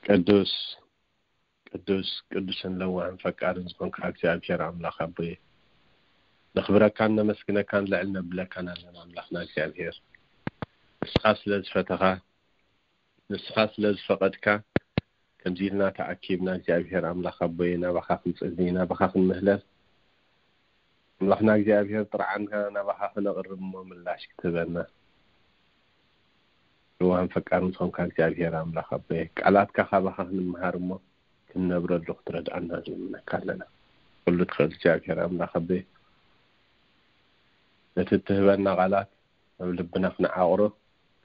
ቅዱስ ቅዱስ ቅዱስን ለዋህን ፈቃርን ዝኾንካ እግዚኣብሔር ኣምላኽ ኣቦየ፣ ነኽብረካን ነመስግነካን ልዕል ነብለካን ኣለና። ኣምላኽና እግዚኣብሔር፣ ንስኻ ስለ ዝፈተኻ፣ ንስኻ ስለ ዝፈቐድካ፣ ከምዚ ኢልና ተኣኪብና እግዚኣብሔር ኣምላኽ ኣቦየ፣ ናባኻ ክንጽሊ፣ ናባኻ ክንምህለል፣ ኣምላኽና እግዚኣብሔር ጥርዓንና ናባኻ ክነቕርብ እሞ ምላሽ ክትህበና። ለዋህን ፈቃርን ዝኾንካ እግዚኣብሔር ኣምላኽ ኣቦየ፣ ቃላትካ ካባኻ ክንምሃር እሞ ክንነብረሉ ክትረድኣና ንልምነካ ኣለና። ኩሉ ትኽእል እግዚኣብሔር ኣምላኽ ኣቦየ፣ ነቲ እትህበና ቃላት ኣብ ልብና ክንዓቕሮ፣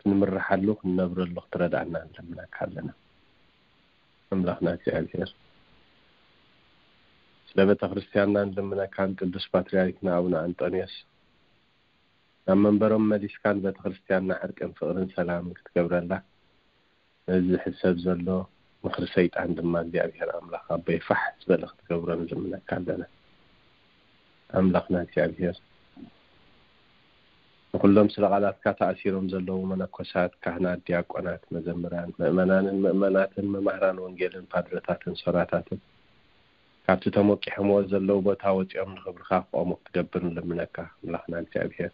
ክንምርሓሉ፣ ክንነብረሉ ክትረድኣና ንልምነካ ኣለና። ኣምላኽና እግዚኣብሔር፣ ስለ ቤተ ክርስትያንና ንልምነካን ቅዱስ ፓትርያርክና ኣቡነ ኣንጦንዮስ ናብ መንበሮም መሊስካ ንቤተ ክርስትያንና ዕርቅን ፍቕርን ሰላምን ክትገብረላ፣ ነዚ ዝሕሰብ ዘሎ ምኽሪ ሰይጣን ድማ እግዚኣብሔር ኣምላኽ ኣቦይ ፋሕ ዝበለ ክትገብሮ ንልምነካ ኣለና። ኣምላኽና እግዚኣብሔር፣ ንኹሎም ስለ ቃላትካ ተኣሲሮም ዘለዉ መነኮሳት፣ ካህናት፣ ዲያቆናት፣ መዘምራን፣ ምእመናንን ምእመናትን፣ መማህራን ወንጌልን ፓድረታትን ሶራታትን፣ ካብቲ ተሞቂሖምዎ ዘለዉ ቦታ ወጺኦም ንኽብርኻ ክቖሙ ክትገብር ንልምነካ። ኣምላኽና እግዚኣብሔር፣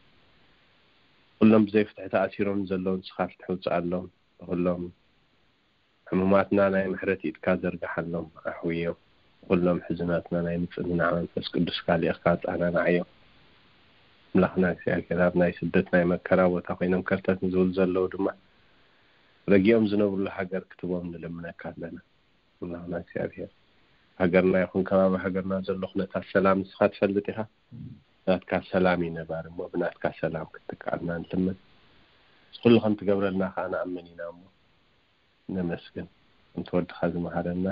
ኩሎም ብዘይ ፍትሒ ተኣሲሮም ዘለዉ ንስኻ ፍትሒ ውጽኣሎም። ንኹሎም ሕሙማትና ናይ ምሕረት ኢድካ ዘርግሓሎም፣ ኣሕውዮም። ንኹሎም ሕዙናትና ናይ ምጽንናዕ መንፈስ ቅዱስካ ልኢኽካ ኣጸናንዓዮም። ኣምላኽና እግዚኣብሔር፣ ኣብ ናይ ስደት ናይ መከራ ቦታ ኮይኖም ከርተት ንዝብሉ ዘለዉ ድማ ረጊኦም ዝነብሩሉ ሃገር ክትቦም ንልምነካ ኣለና። ኣምላኽና እግዚኣብሔር፣ ሃገርና ይኹን ከባቢ ሃገርና ዘሎ ኩነታት ሰላም ንስኻ ትፈልጥ ኢኻ። ናትካ ሰላም እዩ ነባሪ እሞ ብናትካ ሰላም ክትካኣልና ንልምን። እዚ ኩሉ ከም ትገብረልና ከዓ ንኣምን ኢና እሞ ነመስግን። ከምቲ ወድኻ ዝመሃረና፣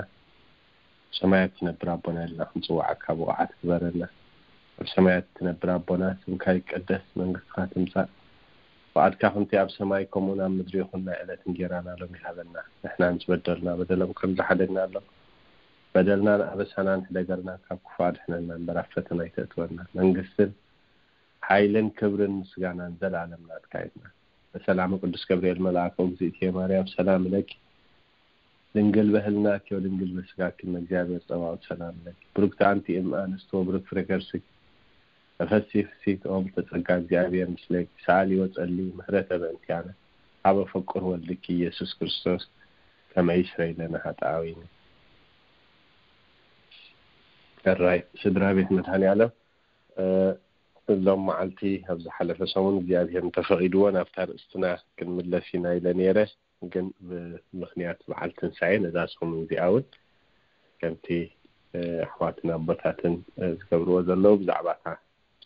ሰማያት ትነብር ኣቦና ኢልና ክንጽዋዓካ ብቑዓት ግበረና። ኣብ ሰማያት ትነብር ኣቦና፣ ስምካ ይቀደስ፣ መንግስትኻ ትምጻእ፣ ፍቓድካ ከምቲ ኣብ ሰማይ ከምኡ ኣብ ምድሪ ይኹን። ናይ ዕለት እንጌራና ሎሚ ሃበና። ንሕና ንዝበደሉና በደሎም ከም ዝሓደግናሎም፣ በደልናን ኣበሳናን ሕደገልና፣ ካብ ክፉእ ኣድሕነና እምበር ኣብ ፈተና ኣይተእትወና። መንግስትን ሓይልን ክብርን ምስጋናን ዘላለም ናትካ ይኹን። በሰላም ቅዱስ ገብርኤል መልኣከ፣ እግዝእትየ ማርያም ሰላም ለኪ፣ ድንግል በህልናኪ ወድንግል በስጋኪ እመ እግዚአብሔር ጸባኦት ሰላም ለኪ፣ ብሩክቲ አንቲ እም አንስት ወብሩክ ፍሬ ከርስኪ፣ ተፈሲ ፍስሕቲ ኦም ተጸጋ፣ እግዚአብሔር ምስሌኪ፣ ሰአሊ ወጸሊ ምሕረተ በእንቲአነ፣ ሀበ ፈቁር ወልድኪ ኢየሱስ ክርስቶስ ከመ ይስረይ ለነ ኃጣውኢነ። ሕራይ ስድራ ቤት መድኃኔ ዓለም፣ እ፣ ሎም መዓልቲ ኣብ ዝሓለፈ ሰሙን እግዚኣብሔር እንተፈቒድዎ ናብታ ርእስትና ክንምለስ ኢና ኢለ ነይረ። ግን ብምኽንያት በዓል ትንሳኤ ነዛ ሰሙን እዚኣ እውን ከምቲ፣ እ፣ ኣሕዋትን ኣቦታትን፣ እ፣ ዝገብርዎ ዘለዉ ብዛዕባ እታ፣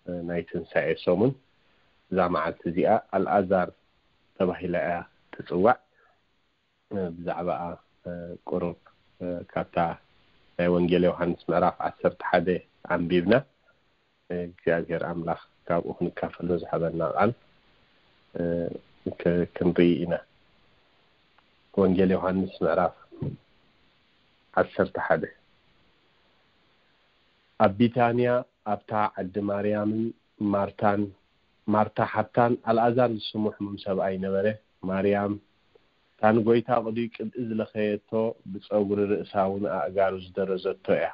እ፣ ናይ ትንሳኤ ሰሙን እዛ መዓልቲ እዚኣ ኣልኣዛር ተባሂላ እያ ትጽዋዕ። እ፣ ብዛዕባኣ፣ እ፣ ቁሩብ፣ እ፣ ካብታ ናይ ወንጌል ዮሃንስ ምዕራፍ ዓሰርተ ሓደ ኣንቢብና፣ እ፣ እግዚኣብሔር ኣምላኽ ካብኡ ክንካፈሎ ዝሃበና ቃል፣ እ፣ ክ-፣ ክንርኢ ኢና። ወንጌል ዮሃንስ ምዕራፍ ዓሰርተ ሓደ። ኣብ ቢታንያ ኣብታ ዓዲ ማርያምን ማርታን፣ ማርታ ሓብታን ኣልኣዛር ዝስሙ ሕሙም ሰብኣይ ነበረ። ማርያም፣ እታ ንጐይታ ቅዱይ ቅብኢ ዝለኸየቶ፣ ብጸጉሪ ርእሳ እውን ኣእጋሩ ዝደረዘቶ እያ።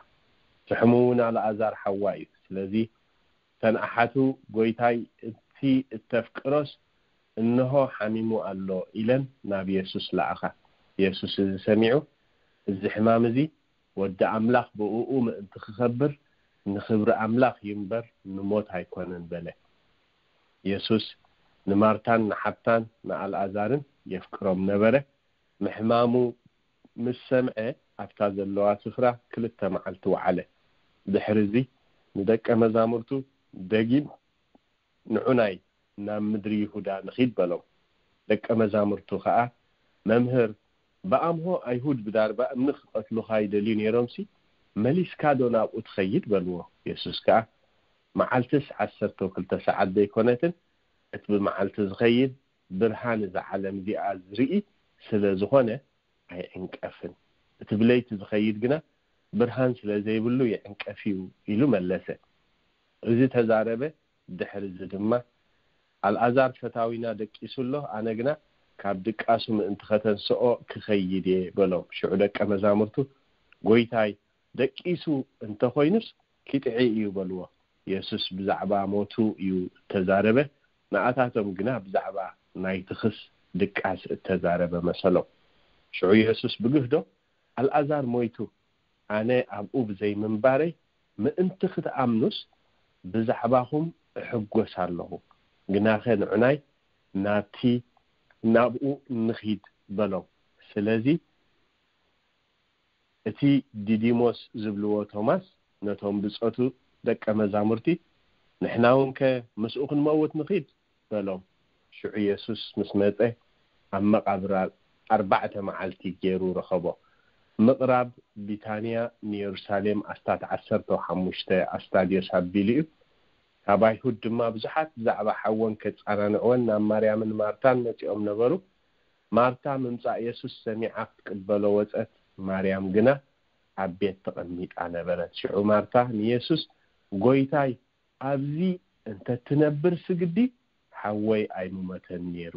እቲ ሕሙም እውን ኣልኣዛር ሓዋ እዩ። ስለዚ እተን ኣሓቱ፣ "ጐይታይ፣ እቲ እተፍቅሮስ እንሆ ሓሚሙ ኣሎ" ኢለን ናብ የሱስ ለኣኻ። የሱስ እዚ ሰሚዑ፣ "እዚ ሕማም እዚ ወዲ ኣምላኽ ብእኡ ምእንቲ ክኸብር፣ ንኽብሪ ኣምላኽ እዩ እምበር፣ ንሞት ኣይኮነን" በለ። የሱስ ንማርታን ንሓብታን ንኣልኣዛርን የፍቅሮም ነበረ። ምሕማሙ ምስ ሰምዐ፣ ኣብታ ዘለዋ ስፍራ ክልተ መዓልቲ ወዓለ። ድሕሪ እዚ ንደቀ መዛሙርቱ፣ "ደጊም ንዑናይ ናብ ምድሪ ይሁዳ ንኺድ" በሎም። ደቀ መዛሙርቱ ኸኣ፣ "መምህር፣ ብኣምሆ ኣይሁድ ብዳርባ እምኒ ክቐትሉኻ ይደልዩ ነይሮምሲ፣ መሊስካዶ ናብኡ ትኸይድ?" በልዎ። የሱስ ከኣ፣ "መዓልትስ ዓሰርተ ክልተ ሰዓት ደይኮነትን? እቲ ብመዓልቲ ዝኸይድ ብርሃን እዛ ዓለም እዚኣ ዝርኢ ስለ ዝኾነ ኣይዕንቀፍን። እቲ ብለይቲ ዝኸይድ ግና ብርሃን ስለ ዘይብሉ ይዕንቀፍ እዩ" ኢሉ መለሰ። እዚ ተዛረበ። ድሕሪ እዚ ድማ፣ "ኣልኣዛር ፈታዊና ደቂሱ ኣሎ፣ ኣነ ግና ካብ ድቃሱ ምእንቲ ኸተንስኦ ክኸይድ እየ በሎም። ሽዑ ደቀ መዛሙርቱ፣ ጎይታይ፣ ደቂሱ እንተኾይኑስ ኪጥዒ እዩ በልዎ። የሱስ ብዛዕባ ሞቱ እዩ እተዛረበ፣ ንኣታቶም ግና ብዛዕባ ናይ ትኽስ ድቃስ እተዛረበ መሰሎም። ሽዑ የሱስ ብግህዶ፣ ኣልኣዛር ሞይቱ፣ ኣነ ኣብኡ ብዘይምንባረይ ምእንቲ ክትኣምኑስ ብዛዕባኹም እሕጎስ ኣለኹ፣ ግናኸ ንዑናይ ናብቲ ናብኡ ንኺድ በሎም። ስለዚ እቲ ዲዲሞስ ዝብልዎ ቶማስ ነቶም ብጾቱ ደቀ መዛሙርቲ፣ ንሕና እውን ከ ምስኡ ክንመውት ንኺድ በሎም። ሽዑ የሱስ ምስ መጸ ኣብ መቓብር ኣርባዕተ መዓልቲ ገይሩ ረኸቦ። ምቕራብ ቢታንያ ንየሩሳሌም ኣስታት ዓሰርተ ሓሙሽተ ኣስታድዮስ ኣቢሉ እዩ። ካብ ኣይሁድ ድማ ብዙሓት ብዛዕባ ሓወን ከጻናንዕወን ናብ ማርያምን ማርታን መጺኦም ነበሩ። ማርታ ምምጻእ የሱስ ሰሚዓ ክትቅበሎ ወጸት፣ ማርያም ግና ኣብ ቤት ተቐሚጣ ነበረት። ሽዑ ማርታ ንየሱስ፣ ጎይታይ፣ ኣብዚ እንተ ትነብር ስግዲ ሓወይ ኣይምሞተን ነይሩ፣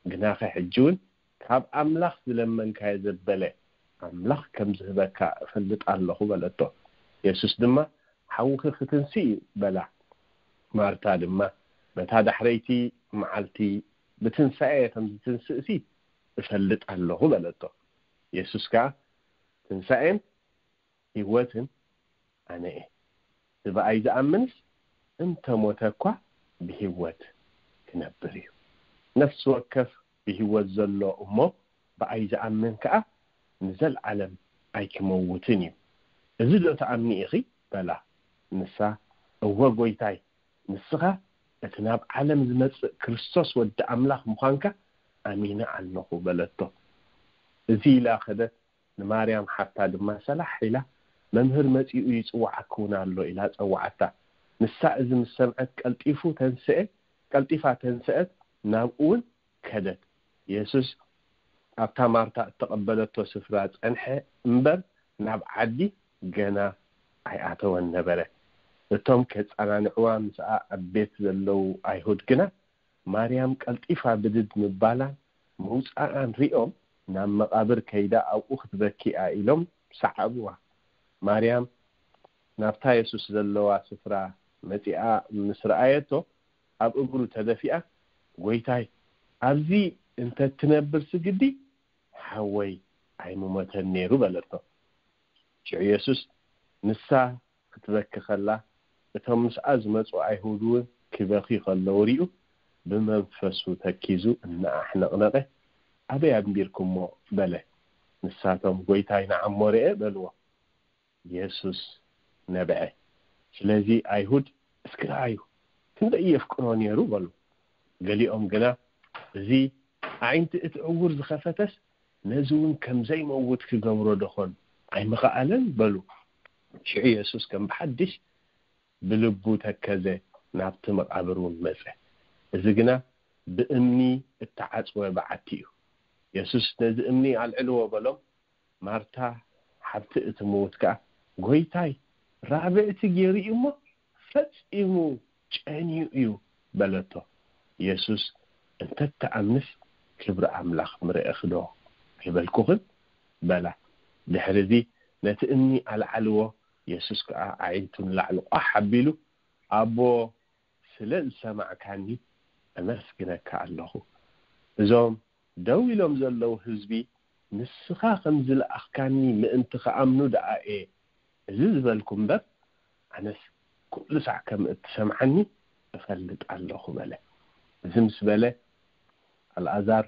ግናኸ ሕጂ እውን ካብ ኣምላኽ ዝለመንካዮ ዘበለ ኣምላኽ ከም ዝህበካ እፈልጥ ኣለኹ በለቶ። የሱስ ድማ፣ ሓውኺ ክትንስእ እዩ በላ። ማርታ ድማ፣ በታ ዳሕረይቲ መዓልቲ ብትንሳኤ ከም ዝትንስእሲ እፈልጥ ኣለኹ በለቶ። የሱስ ከኣ፣ ትንሳኤን ህይወትን ኣነ እየ። እቲ ብኣይ ዝኣምንስ እንተ ሞተ እኳ ብህይወት ክነብር እዩ። ነፍሲ ወከፍ ብህይወት ዘሎ እሞ ብኣይ ዝኣምን ከኣ ንዘለዓለም ኣይክመውትን እዩ። እዚ ዶ ትኣምኒ ኢኺ? በላ። ንሳ፣ እወ ጐይታይ፣ ንስኻ እቲ ናብ ዓለም ዝመጽእ ክርስቶስ ወዲ ኣምላኽ ምዃንካ ኣሚነ ኣለኹ በለቶ። እዚ ኢላ ከደት። ንማርያም ሓፍታ ድማ ሰላሕ ኢላ፣ መምህር መጺኡ ይጽውዓኪ እውን ኣሎ ኢላ ጸውዓታ። ንሳ እዚ ምስ ሰምዐት ቀልጢፉ ተንስአ፣ ቀልጢፋ ተንስአት፣ ናብኡ እውን ከደት። የሱስ ኣብታ ማርታ እተቐበለቶ ስፍራ ጸንሐ እምበር ናብ ዓዲ ገና ኣይኣተወን ነበረ። እቶም ከጸናንዕዋ ምስኣ ኣብ ቤት ዘለዉ ኣይሁድ ግና ማርያም ቀልጢፋ ብድድ ምባላን ምውጻኣን ሪኦም ናብ መቓብር ከይዳ ኣብኡ ክትበኪ እያ ኢሎም ሰዓብዋ። ማርያም ናብታ የሱስ ዘለዋ ስፍራ መጺኣ ምስ ረኣየቶ ኣብ እግሩ ተደፊኣ፣ ጎይታይ፣ ኣብዚ እንተ ትነብር ስግዲ ሓወይ ኣይምሞተን ነይሩ በለቶ። ሽዑ የሱስ ንሳ ክትበኪ ከላ እቶም ምስኣ ዝመጹ ኣይሁድ እውን ክበኺ ከለዉ ሪኡ ብመንፈሱ ተኪዙ እናኣሕነቕነቐ ኣበይ ኣንቢርኩሞ በለ። ንሳቶም ጎይታይ ንዓሞ ርኤ በልዎ። የሱስ ነብዐ። ስለዚ ኣይሁድ እስኪ ረኣዩ ክንደይ የፍቅሮ ነይሩ በሉ። ገሊኦም ግና እዚ ኣዒንቲ እቲ ዕውር ዝኸፈተስ ነዚ እውን ከም ዘይመውት ክገብሮ ደኾን ኣይምኸኣለን በሉ። ሽዑ የሱስ ከም ብሓድሽ ብልቡ ተከዘ፣ ናብቲ መቓብር እውን መጸ። እዚ ግና ብእምኒ እተዓጽወ በዓቲ እዩ። የሱስ ነዚ እምኒ ኣልዕልዎ በሎም። ማርታ ሓብቲ እቲ ምዉት ከኣ፣ ጎይታይ፣ ራብዕቲ ገይሩ እዩ እሞ ፈጺሙ ጨንዩ እዩ በለቶ። የሱስ፣ እንተ ትኣምንስ ክብሪ ኣምላኽ ምረእኺ ዶ ኣይበልኩኽን? በላ። ድሕሪ እዚ ነቲ እምኒ ኣልዓልዎ፣ የሱስ ከኣ ኣዒንቱ ንላዕሊ ቋሕ ኣቢሉ፣ ኣቦ፣ ስለ ዝሰማዕካኒ ኣመስግነካ ኣለኹ። እዞም ደው ኢሎም ዘለዉ ህዝቢ ንስኻ ከም ዝለኣኽካኒ ምእንቲ ክኣምኑ ደኣ እየ እዚ ዝበልኩ እምበር፣ ኣነስ ኩሉ ሳዕ ከም እትሰምዓኒ እፈልጥ ኣለኹ በለ። እዚ ምስ በለ ኣልኣዛር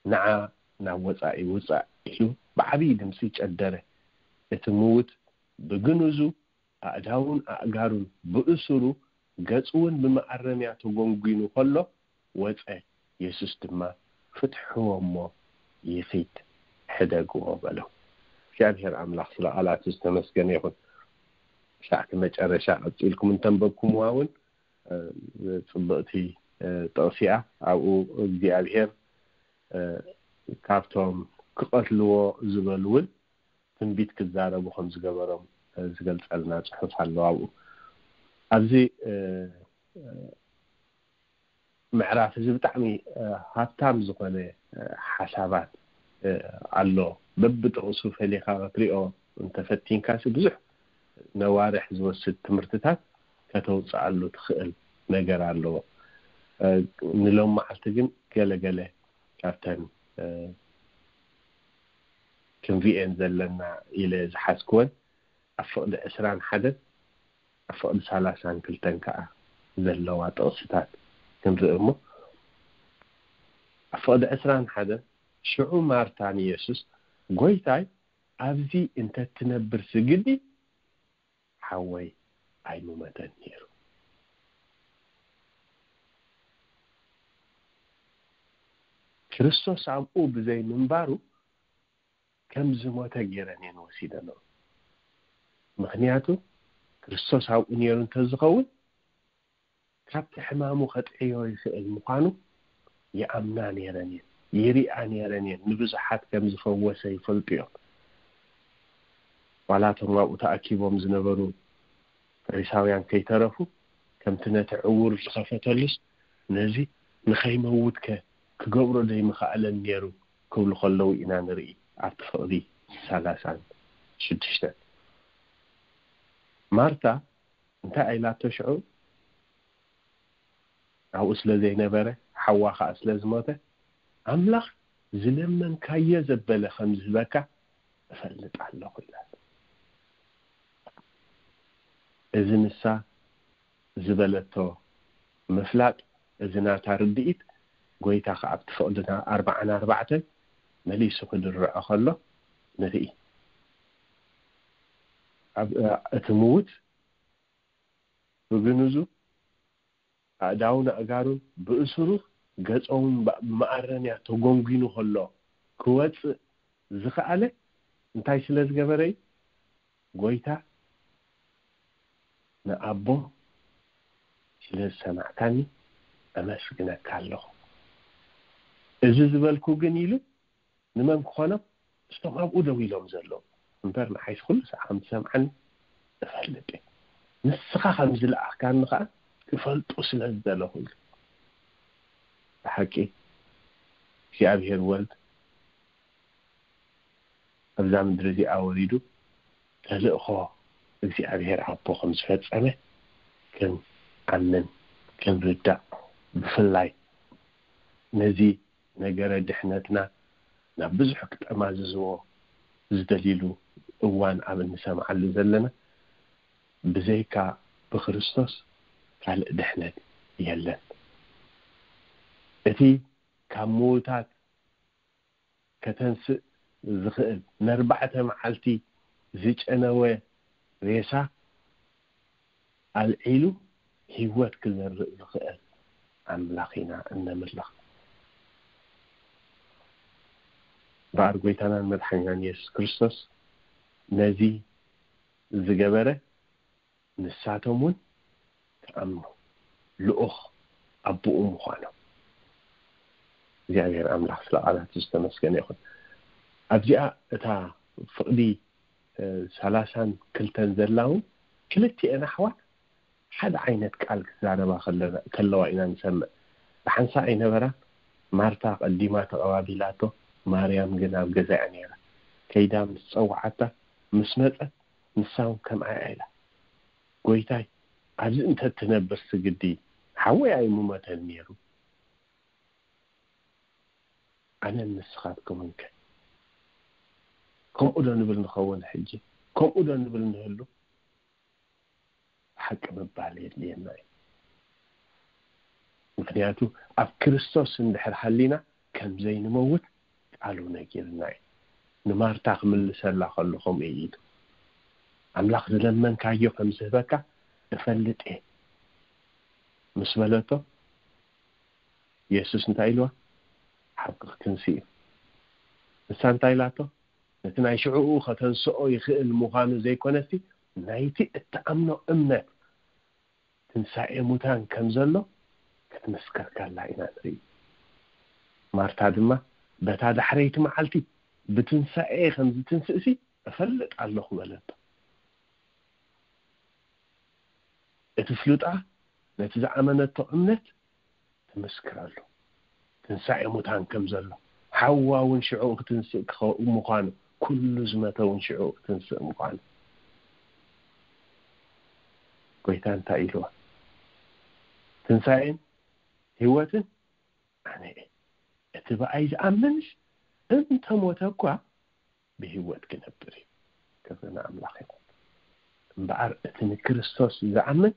ንዓ ናብ ወጻኢ ውጻእ ኢሉ ብዓብዪ ድምጺ ጨደረ። እቲ ምዉት ብግንዙ ኣእዳውን ኣእጋሩን ብእሱሩ ገጹ እውን ብመኣረምያ ተጎንጒኑ ከሎ ወጸ። የሱስ ድማ ፍትሕዎ እሞ ይኺድ ሕደግዎ በሎ። እግዚኣብሔር ኣምላኽ ስለ ቃላቱ ዝተመስገነ ይኹን። ክሳዕቲ መጨረሻ ቀጺልኩም እንተንበብኩምዋ እውን ጽብቕቲ ጥቕሲ እያ። ኣብኡ እግዚኣብሔር ካብቶም ክቐትልዎ ዝበሉ እውን ትንቢት ክዛረቡ ከም ዝገበሮም ዝገልጸልና ጽሑፍ ኣሎ። ኣብኡ ኣብዚ ምዕራፍ እዚ ብጣዕሚ ሃብታም ዝኾነ ሓሳባት ኣሎ። በብጥቕሱ ፈሊኻ ክትሪኦ እንተፈቲንካሲ ብዙሕ ነዋርሕ ዝወስድ ትምህርትታት ከተውፅኣሉ ትኽእል ነገር ኣለዎ። ንሎም መዓልቲ ግን ገለገለ ካብተን ክንሪኤን ዘለና ኢለ ዝሓዝክወን ኣብ ፍቕዲ ዕስራን ሓደን ኣብ ፍቕዲ ሰላሳን ክልተን ከዓ ዘለዋ ጥቕስታት ክንርኢ እሞ፣ ኣብ ፍቕዲ ዕስራን ሓደን ሽዑ ማርታ ንየሱስ፣ "ጎይታይ፣ ኣብዚ እንተትነብር ስግዲ ሓወይ ኣይምመተን ነይሩ።" ክርስቶስ ኣብኡ ብዘይ ምንባሩ ከም ዝሞተ ገይረን እየን ወሲደንኦ። ምኽንያቱ ክርስቶስ ኣብኡ ነይሩ እንተዝኸውን ካብቲ ሕማሙ ከጥዕዮ ይኽእል ምዃኑ ይኣምና ነይረን እየን፣ ይሪኣ ነይረን እየን። ንብዙሓት ከም ዝፈወሰ ይፈልጡ እዮም። ዋላ እቶም ኣብኡ ተኣኪቦም ዝነበሩ ፈሪሳውያን ከይተረፉ ከምቲ ነቲ ዕውር ዝኸፈተሉስ ነዚ ንኸይመውትከ ክገብሮ ዘይምኸኣለን ነይሩ ክብሉ ከለዉ ኢና ንርኢ ኣብቲ ፍቕዲ ሰላሳን ሽዱሽተን። ማርታ እንታይ ኣይላቶ ሽዑ ኣብኡ ስለ ዘይነበረ ሓዋ ከዓ ስለ ዝሞተ ኣምላኽ ዝለመንካዮ ዘበለ ከም ዝህበካ እፈልጥ ኣለኹ ኢላቶ። እዚ ንሳ ዝበለቶ ምፍላጥ፣ እዚ ናታ ርድኢት ጎይታ ከዓ ኣብቲ ፍቕድና ኣርባዓን ኣርባዕተን መሊሱ ክድርዖ ከሎ ንርኢ። እቲ ምዉት ብግንዙ ኣእዳውን ኣእጋሩን ብእሱሩ ገጾውን ብመኣረንያ ተጎንጒኑ ከሎ ክወጽእ ዝኸኣለ እንታይ ስለ ዝገበረ እዩ? ጎይታ ንኣቦ ስለ ዝሰማዕካኒ ኣመስግነካ ኣለኹ። እዚ ዝበልኩ ግን ኢሉ ንመን ክኾኖም? እቶም ኣብኡ ደው ኢሎም ዘለዉ። እምበር ንዓይስ ኩሉ ሰዓት ከም ትሰምዓኒ እፈልጥ እየ። ንስኻ ከም ዝለኣኽካኒ ኸዓ ክፈልጡ ስለ ዝደለኹ ኢሉ። ብሓቂ እግዚኣብሔር ወልድ ኣብዛ ምድሪ እዚኣ ወሪዱ ተልእኾ እግዚኣብሔር ኣቦ ከም ዝፈጸመ ክንኣምን ክንርዳእ፣ ብፍላይ ነዚ ነገረ ድሕነትና ናብ ብዙሕ ክጠማዝዝዎ ዝደልይሉ እዋን ኣብ እንሰምዓሉ ዘለና፣ ብዘይካ ብክርስቶስ ካልእ ድሕነት የለን። እቲ ካብ ምዉታት ከተንስእ ዝኽእል፣ ነርባዕተ መዓልቲ ዝጨነወ ሬሳ ኣልዒሉ ህይወት ክዘርእ ዝኽእል ኣምላኽ ኢና እነምልኽ። እምበኣር ጎይታናን መድሓኒናን የሱስ ክርስቶስ ነዚ ዝገበረ፣ ንሳቶም እውን ክኣምኑ ልኡኽ ኣቦኡ ምዃኖም። እግዚኣብሔር ኣምላኽ ስለ ቃላቱ ዝተመስገነ ይኹን። ኣብዚኣ እታ ፍቕዲ ሰላሳን ክልተን ዘላ እውን ክልቲኤን ኣሕዋት ሓደ ዓይነት ቃል ክዛረባ ከለና- ከለዋ ኢና ንሰምዕ። ብሓንሳእ ኣይነበራን። ማርታ ቀዲማ ተቐባቢላቶ፣ ማርያም ግን ኣብ ገዛ እያ ነይራ። ከይዳ ምስ ጸውዓታ ምስ መጸት ንሳ እውን ከምኣ እያ ኢላ። ጎይታይ፣ ኣብዚ እንተ ትነብር ስግዲ ሓወይ ኣይምሞተን ነይሩ። ኣነን ንስኻትኩምን ከ ከምኡ ዶ ንብል ንኸውን? ሕጂ ከምኡ ዶ ንብል ንህሉ? ሓቂ ምባል የድልየና እዩ። ምክንያቱ ኣብ ክርስቶስ እንድሕር ሃሊና ከም ዘይንመውት ቃሉ ነጊርና እዩ። ንማርታ ክምልሰላ ከሎ ከምኡ እዩ ኢሉ፣ ኣምላኽ ዝለመንካዮ ከም ዝህበካ እፈልጥ እየ ምስ በለቶ፣ የሱስ እንታይ ኢልዋ? ሓቂ ክትንሲ እዩ። ንሳ እንታይ ኢላቶ? ነቲ ናይ ሽዕኡ ከተንስኦ ይኽእል ምዃኑ ዘይኮነሲ፣ ናይቲ እትኣምኖ እምነት ትንሳኤ ሙታን ከም ዘሎ ክትምስከር ከላ ኢና ንርኢ። ማርታ ድማ፣ በታ ዳሕረይቲ መዓልቲ ብትንሳኤ ከም ዝትንስእሲ እፈልጥ ኣለኹ በለቶ። እቲ ፍሉጣ ነቲ ዝኣመነቶ እምነት ትምስክረሉ። ትንሳኤ ሙታን ከም ዘሎ፣ ሓዋ እውን ሽዑ ክትንስእ ክኸ-፣ ምዃኑ፣ ኩሉ ዝመተ እውን ሽዑ ክትንስእ ምዃኑ። ጎይታ እንታይ ኢልዋ? "ትንሳኤን ህይወትን ኣነ እየ። እቲ ብኣይ ዝኣምንስ እንተ ሞተ እኳ ብህይወት ክነብር እዩ።" ክብሪ ንኣምላኽ ይኹን። እምበኣር እቲ ንክርስቶስ ዝኣምን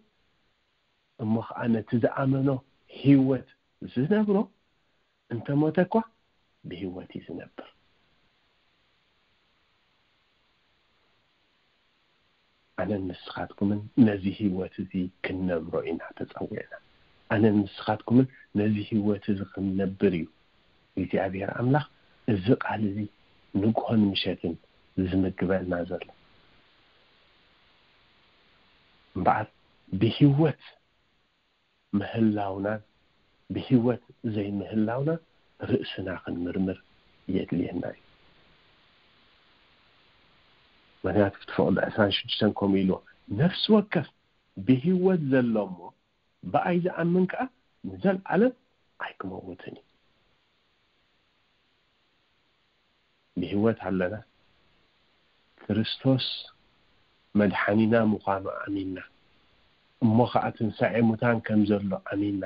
እሞ ኸዓ ነቲ ዝኣመኖ ህይወት ዝነብሮ እንተ ሞተ እኳ ብህይወት እዩ ዝነብር። ኣነን ንስኻትኩምን ነዚ ህይወት እዚ ክንነብሮ ኢና ተጸዊዕና። ኣነን ንስኻትኩምን ነዚ ህይወት እዚ ክንነብር እዩ እግዚኣብሔር ኣምላኽ እዚ ቃል እዚ ንግሆን ምሸትን ዝምግበና ዘሎ። እምበኣር ብህይወት ምህላውናን ብህይወት ዘይምህላውናን ርእስና ክንምርምር የድልየና እዩ። ምኽንያቱ እቲ ፍቕዲ ዕስራን ሽዱሽተን ከምኡ ኢልዎ፣ "ነፍሲ ወከፍ ብህይወት ዘሎ እሞ ብኣይ ዝኣምን ከኣ ንዘለኣለም ኣይክመውትን እዩ።" ብህይወት ኣለና። ክርስቶስ መድሓኒና ምዃኑ ኣሚንና፣ እሞ ኸዓ ትንሳኤ ሙታን ከም ዘሎ ኣሚንና፣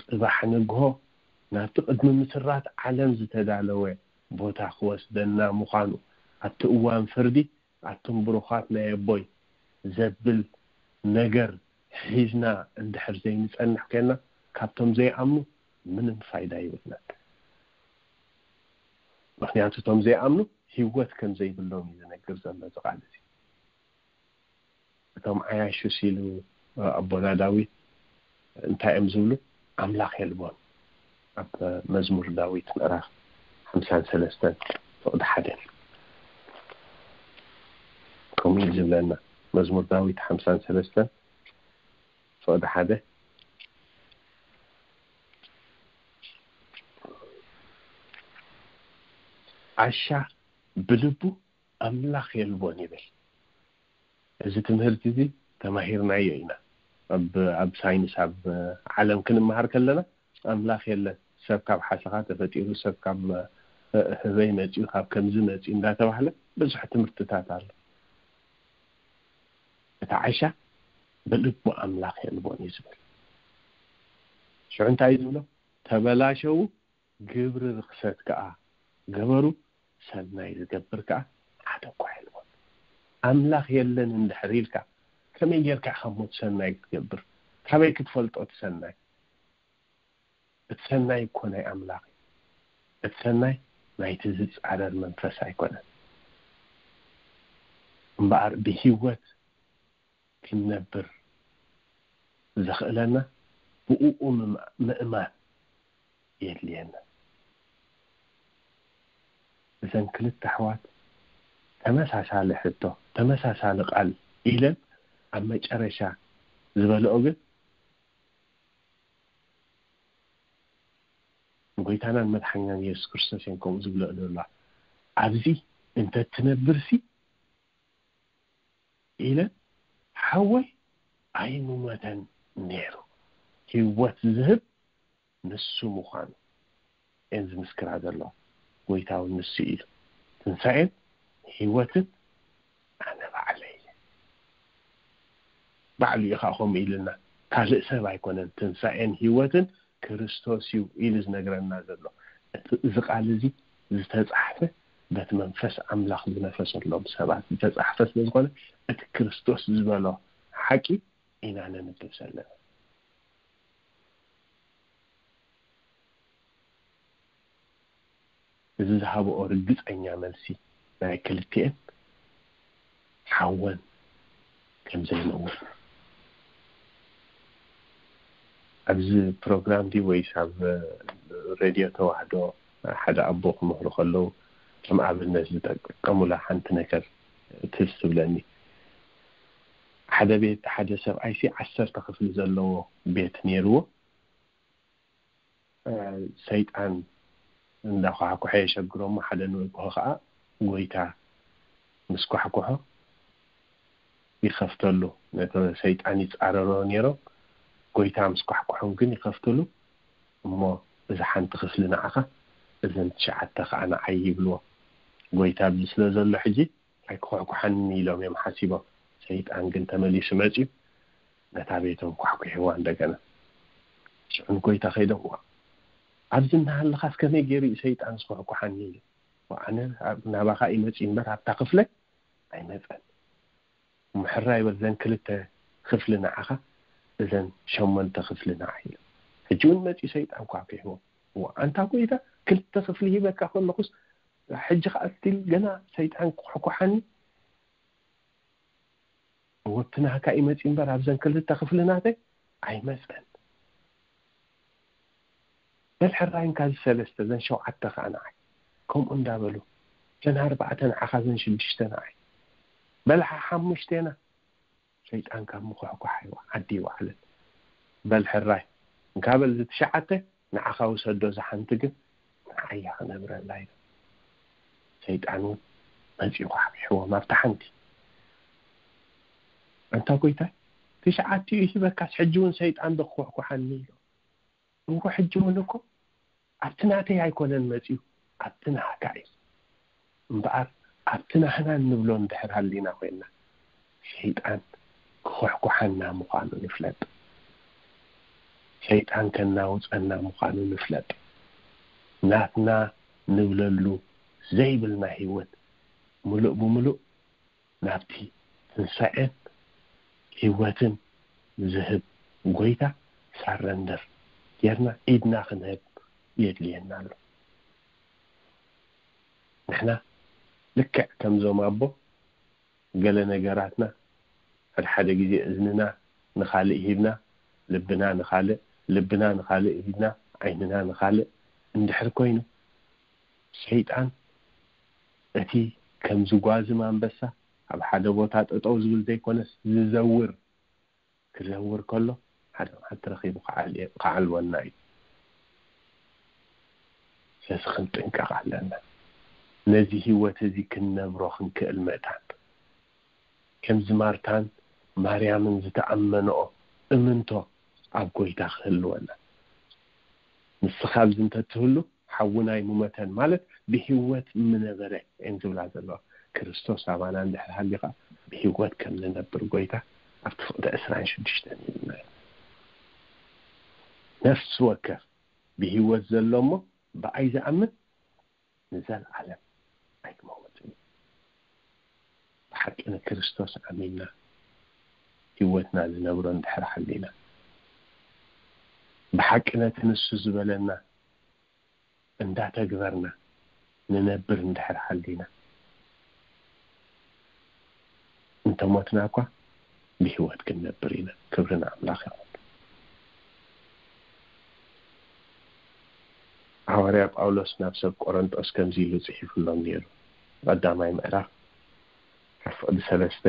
ጽባሕ ንግሆ ናብቲ ቅድሚ ምስራት ዓለም ዝተዳለወ ቦታ ክወስደና ምዃኑ፣ ኣብቲ እዋን ፍርዲ "ኣቱም ብሩኻት ናይ ኣቦይ" ዘብል ነገር ሒዝና እንድሕር ዘይንጸንሕ ኮይንና፣ ካብቶም ዘይኣምኑ ምንም ፋይዳ የብልናን። ምኽንያቱ እቶም ዘይኣምኑ ህይወት ከም ዘይብሎም እዩ ዝነግር ዘሎ እዚ ቃል እዚ። እቶም ዓያሹስ ኢሉ ኣቦና ዳዊት እንታይ እዮም ዝብሉ? ኣምላኽ የልቦን። ኣብ መዝሙር ዳዊት ምዕራፍ ሓምሳን ሰለስተን ፍቕዲ ሓደ ከምኡ እዩ ዝብለና። መዝሙር ዳዊት ሓምሳን ሰለስተን ፍቕዲ ሓደ፣ "ዓሻ ብልቡ ኣምላኽ የልቦን" ይብል። እዚ ትምህርቲ እዚ ተማሂርናዮ ኢና። ኣብ፣ ኣብ ሳይንስ፣ ኣብ ዓለም ክንመሃር ከለና ኣምላኽ የለን፣ ሰብ ካብ ሓሰኻ ተፈጢሩ፣ ሰብ ካብ ህበይ መጺኡ፣ ካብ ከምዚ መጺኡ እንዳተባህለ ብዙሕ ትምህርትታት ኣሎ። እቲ ዓሻ ብልቡ ኣምላኽ የልቦን እዩ ዝብል። ሽዑ እንታይ እዩ ዝብሎ? "ተበላሸዉ፣ ግብሪ ርኽሰት ከኣ ገበሩ፣ ሰናይ ዝገብር ከኣ ሓደ እኳ የልቦን።" ኣምላኽ የለን እንድሕር ኢልካ፣ ከመይ ጌርካ ኢኻ እሞ እቲ ሰናይ ክትገብር? ካበይ ክትፈልጦ እቲ ሰናይ? እቲ ሰናይ እኮ ናይ ኣምላኽ እዩ። እቲ ሰናይ ናይቲ ዝጻረር መንፈስ ኣይኮነን። እምበኣር ብህይወት ክንነብር ዘኽእለና ብእኡ ምም-፣ ምእማን የድልየና። እዘን ክልተ ኣሕዋት ተመሳሳሊ ሕቶ፣ ተመሳሳሊ ቃል ኢለን ኣብ መጨረሻ ዝበልኦ ግን ንጎይታናን መድሓኛን የሱስ ክርስቶስ እዮም ከምኡ ዝብልኦ ዘለዋ። ኣብዚ እንተ ትነብርሲ ኢለን ሓወይ ኣይምሞተን ነይሩ። ህይወት ዝህብ ንሱ ምዃኑ እየን ዝምስክራ ዘለዋ። ጎይታ እውን ንሱ እዩ። ትንሳኤን ህይወትን ኣነ ባዕለይ እየ። ባዕሉ እዩ ከዓ ከምኡ ኢሉና። ካልእ ሰብ ኣይኮነን። ትንሳኤን ህይወትን ክርስቶስ እዩ ኢሉ ዝነግረና ዘሎ። እቲ፣ እዚ ቃል እዚ ዝተጻሕፈ በቲ መንፈስ ኣምላኽ ዝነፈሰሎም ሰባት ዝተጻሕፈ ስለ ዝኾነ፣ እቲ ክርስቶስ ዝበሎ ሓቂ ኢና ነንብብ ዘለና። እዚ ዝሃብኦ ርግጸኛ መልሲ ናይ ክልቲኤን ሓወን ከም ዘይነውር። ኣብዚ ፕሮግራም ድዩ ወይስ ኣብ ሬድዮ ተዋህዶ ሓደ ኣቦ ክምህሩ ከለዉ ከም ኣብነት ዝጠቀሙላ ሓንቲ ነገር ትዝ ትብለኒ። ሓደ ቤት፣ ሓደ ሰብኣይሲ ዓሰርተ ክፍሊ ዘለዎ ቤት ነይርዎ። እ፣ ሰይጣን እንዳኳሕኩሐ የሸግሮ እሞ ሓደ ንግሆ ከዓ ጎይታ ምስ ኳሕኩሖ ይኸፍተሉ። ነቲ ሰይጣን ይጻረሮ ነይሮም። ጎይታ ምስ ኳሕኩሖም ግን ይኸፍትሉ። እሞ እዛ ሓንቲ ክፍሊ ንዓኻ እዘን ትሽዓተ ከዓ ንዓይ ይብልዎ። ጎይታ ኣብዚ ስለ ዘሎ ሕጂ ኣይክኹሕኩሓኒ ኢሎም እዮም ሓሲቦም። ሰይጣን ግን ተመሊሱ መፅዩ ነታ ቤቶም ኳሕኩሕዋ እንደገና። ሽዑ ንጎይታ ከይዶም፣ "ዋ፣ ኣብዚ እናሃለኻስ ከመይ ገይሩ እዩ ሰይጣን ዝኹሕኩሓኒ?" ኢሉ፣ "ዋ፣ ኣነ ኣብ-፣ ናባኻ ይመፅእ እምበር ኣብታ ክፍለ ኣይመፀን። እሞ ሕራይ በል፣ እዘን ክልተ ክፍሊ ንዓኻ፣ እዘን ሸሞንተ ክፍሊ ንዓይ" ኢሉ። ሕጂ እውን መፂኡ ሰይጣን ኳሕኩሕዎ። "ዋ፣ ኣንታ ጎይታ፣ ክልተ ክፍሊ ሂበካ ከለኹስ ሕጂ ከዓ ስቲል ገና ሰይጣን ክኹሕኩሓኒ?" "ወብቲ ናህካ ይመፂ እምበር ኣብዘን ክልተ ክፍሊ ናተይ ኣይመፀን። በል ሕራይ እንካ እዚ ሰለስተ፣ ዘን ሸውዓተ ከዓ ንዓይ." ከምኡ እንዳበሉ፣ ዘን ኣርባዕተ ንዓኻ፣ ዘን ሽዱሽተ ንዓይ፣ በል ሓ-፣ ሓሙሽቴና። ሰይጣን ካብ ምኹሕኳሕ ይዋ-፣ ዓዲ ይወዓለት። "በል ሕራይ እንካ በል እዚ ትሽዓተ ንዓኻ ውሰዶ፣ እዛ ሓንቲ ግን ንዓይ እያ ክነብረላ" ኢሉ። ሰይጣን እውን መፂኡ ኳሕኪሕዎም ኣብታ ሓንቲ። "ኣንታ ጎይታይ፣ ትሽዓቲኡ ይህበካስ ሕጂ እውን ሰይጣን ዶ ክኹሕኩሓኒ?" ኢሉ። "እወ፣ ሕጂ እውን እኮ ኣብቲ ናተይ ኣይኮነን መፂኡ፣ ኣብቲ ናህካ እዩ። እምበኣር ኣብቲ ናህና እንብሎ እንድሕር ሃሊና ኮይንና፣ ሰይጣን ክኹሕኩሓና ምዃኑ ንፍለጥ። ሰይጣን ከናውፀና ምዃኑ ንፍለጥ። ናትና ንብለሉ ዘይብልና ህይወት ምሉእ ብምሉእ ናብቲ ትንሳኤን ህይወትን ዝህብ ጎይታ ሳረንደር ጌርና ኢድና ክንህብ የድልየና ኣሎ። ንሕና ልክዕ ከምዞም ኣቦ ገለ ነገራትና ሓደ ሓደ ግዜ እዝንና ንኻልእ ሂብና፣ ልብና ንኻልእ፣ ልብና ንኻልእ ሂብና፣ ዓይንና ንኻልእ እንድሕር ኮይኑ፣ ሰይጣን እቲ ከም ዝጓዝም ኣንበሳ ኣብ ሓደ ቦታ ጠጠው ዝብል ዘይኮነስ ዝዘውር፣ ክዘውር ከሎ ሓደ መዓልቲ ረኺቡ ክዓል-፣ ክዓልወና እዩ። ስለዚ ክንጥንቀቕ ኣለና። ነዚ ህይወት እዚ ክንነብሮ ክንክእል ምእታን፣ ከምዚ ማርታን ማርያምን ዝተኣመንኦ እምንቶ ኣብ ጎይታ ክህልወና። ንስኻ ኣብዚ እንተትህሉ ሓውናይ ምሞተን ማለት ብህይወት ምነበረ እየን ዝብላ ዘለዋ። ክርስቶስ ኣባና እንድሕር ሃልዩ ኸዓ ብህይወት ከም ዝነብር ጎይታ ኣብቲ ፍቕዲ ዕስራን ሽዱሽተን ይብልና እዩ። ነፍሲ ወከፍ ብህይወት ዘሎ እሞ ብኣይ ዝኣምን ንዘለዓለም ኣይክመውትን እዩ። ብሓቂ ንክርስቶስ ኣሚንና ህይወትና ዝነብሮ እንድሕር ሓሊና፣ ብሓቂ ነቲ ንሱ ዝበለና እንዳተግበርና ንነብር እንድሕር ሓሊና፣ እንተሞትና እኳ ብህይወት ክንነብር ኢና። ክብሪ ንኣምላኽ ይኹን። ሃዋርያ ጳውሎስ ናብ ሰብ ቆረንጦስ ከምዚ ኢሉ ጽሒፉሎም ነይሩ። ቀዳማይ ምዕራፍ ካብ ፍቕዲ ሰለስተ፣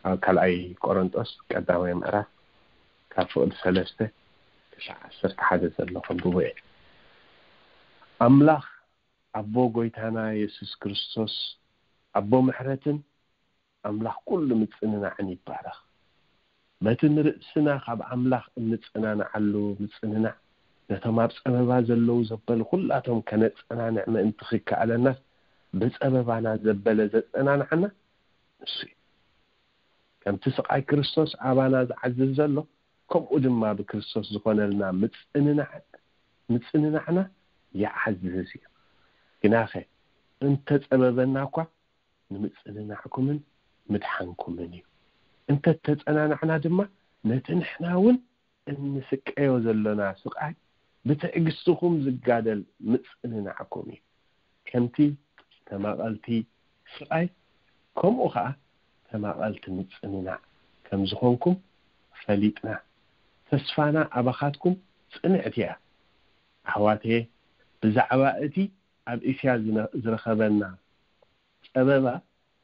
ኣብ ካልኣይ ቆረንጦስ ቀዳማይ ምዕራፍ ካብ ፍቕዲ ሰለስተ ክሳዕ ዓሰርተ ሓደ ዘሎ ከንብቦ እየ። ኣምላኽ ኣቦ ጎይታና የሱስ ክርስቶስ፣ ኣቦ ምሕረትን ኣምላኽ ኩሉ ምጽንናዕን ይባረኽ። በቲ ንርእስና ካብ ኣምላኽ እንጽናንዓሉ ምጽንናዕ፣ ነቶም ኣብ ጸበባ ዘለዉ ዘበሉ ኩላቶም ከነጸናንዕ ምእንቲ ክከኣለናስ፣ ብጸበባና ዘበለ ዘጸናንዓና ንሱ እዩ። ከምቲ ስቓይ ክርስቶስ ኣባና ዝዓዝዝ ዘሎ፣ ከምኡ ድማ ብክርስቶስ ዝኾነልና ምጽንናዕ-፣ ምጽንናዕና ይዓዝዝ እዩ። ግናኸ እንተጸበበና እኳ፣ ንምጽንናዕኩምን ምድሓንኩምን እዩ። እንተተጸናናዕና ድማ፣ ነቲ ንሕና እውን እንስቀዮ ዘሎና ስቓይ ብትዕግስትኹም ዝጋደል ምጽንናዕኩም እዩ። ከምቲ ተማቐልቲ ስቓይ፣ ከምኡ ኸኣ ተማቐልቲ ምጽንናዕ ከም ዝኾንኩም ፈሊጥና፣ ተስፋና ኣባኻትኩም ጽንዕቲ እያ። ኣሕዋተየ፣ ብዛዕባ እቲ ኣብ እስያ ዝነ-፣ ዝረኸበና ጸበባ፣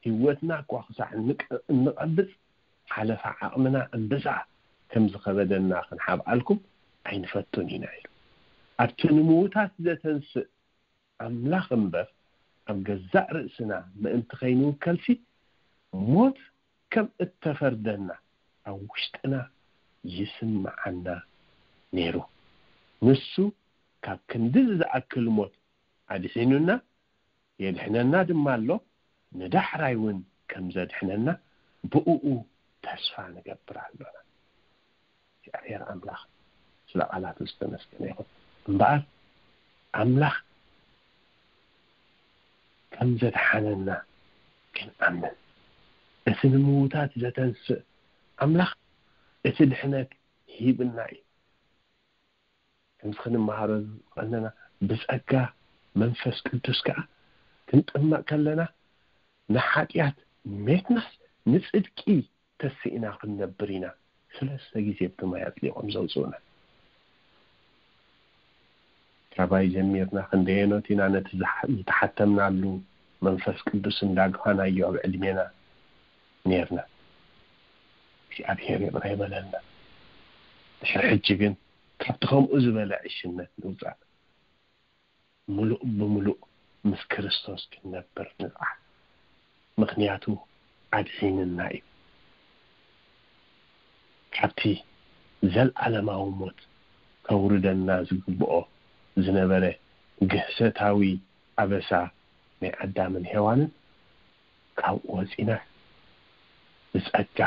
ህይወትና እኳ ክሳዕ እንቀ-፣ እንቐብጽ፣ ሓለፋ ዓቕምና እምብዛ ከም ዝኸበደና ክንሓብኣልኩም ኣይንፈቱን ኢና ኢሉ። ኣብቲ ንምዉታት ዘተንስእ ኣምላኽ እምበር፣ ኣብ ገዛእ ርእስና ምእንቲ ከይንውከልሲ፣ ሞት ከም እተፈርደና ኣብ ውሽጥና ይስምዓና ነይሩ። ንሱ ካብ ክንድዚ ዝኣክል ሞት ኣድሒኑና፣ የድሕነና ድማ ኣሎ። ንዳሕራይ እውን ከም ዘድሕነና ብእኡ ተስፋ ንገብር ኣሎና። እግዚኣብሔር ኣምላኽ ስለ ቃላቱ ዝተመስገነ ይኹን። እምበኣር ኣምላኽ ከም ዘድሓነና ክንኣምን፣ እቲ ንምዉታት ዘተንስእ ኣምላኽ እቲ ድሕነት ሂብና እዩ። ከምዚ ክንመሃሮ ዝቐነና፣ ብጸጋ መንፈስ ቅዱስ ከኣ ክንጥመቕ ከለና ንሓጢኣት ሜትናስ ንጽድቂ ተስኢና ክንነብር ኢና። ሰለስተ ግዜ ብቲ ማይ ኣጥሊቖም ዘውፅኡና። ካባይ ጀሚርና ክንደየኖት ኢና ነቲ ዝሓ- ዝተሓተምናሉ መንፈስ ቅዱስ እንዳግፋናዮ ኣብ ዕድሜና ነርና? እግዚኣብሔር ይቕረ ይበለልና። ድሕሪ ሕጂ ግን ካብቲ ከምኡ ዝበለ ዕሽነት ንውፃእ፣ ምሉእ ብምሉእ ምስ ክርስቶስ ክንነብር ንፅዓር። ምኽንያቱ ኣድሒንና እዩ። ካብቲ ዘለዓለማዊ ሞት ከውርደና ዝግብኦ ዝነበረ ግህሰታዊ ኣበሳ ናይ ኣዳምን ሄዋንን ካብኡ ወፂና ብፀጋ